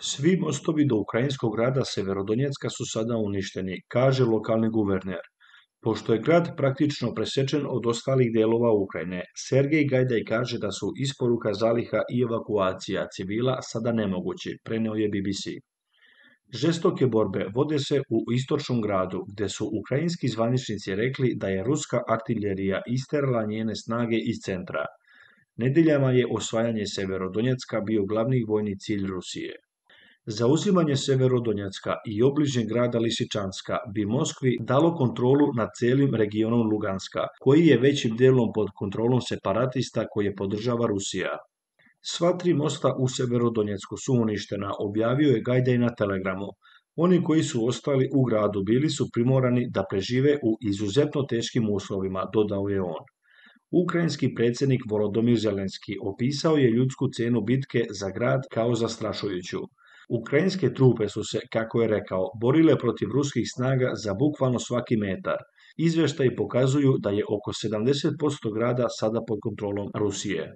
Svi mostovi do ukrajinskog grada Severodonjecka su sada uništeni, kaže lokalni guverner. Pošto je grad praktično presečen od ostalih dijelova Ukrajine, Sergej Gajdaj kaže da su isporuka zaliha i evakuacija civila sada nemogući, preneo je BBC. Žestoke borbe vode se u istočnom gradu, gdje su ukrajinski zvaničnici rekli da je ruska artiljerija isterala njene snage iz centra. Nedeljama je osvajanje Severodonjecka bio glavni vojni cilj Rusije. Zauzimanje Severodonjecka i obližnjeg grada Lisičanska bi Moskvi dalo kontrolu nad cijelim regionom Luganska, koji je većim dijelom pod kontrolom separatista koje podržava Rusija. Sva tri mosta u Severodonjecku su uništena, objavio je Gajdaj na Telegramu. Oni koji su ostali u gradu bili su primorani da prežive u izuzetno teškim uslovima, dodao je on. Ukrajinski predsjednik Volodymyr Zelenski opisao je ljudsku cijenu bitke za grad kao zastrašujuću. Ukrajinske trupe su se, kako je rekao, borile protiv ruskih snaga za bukvalno svaki metar. Izvještaji pokazuju da je oko 70% grada sada pod kontrolom Rusije.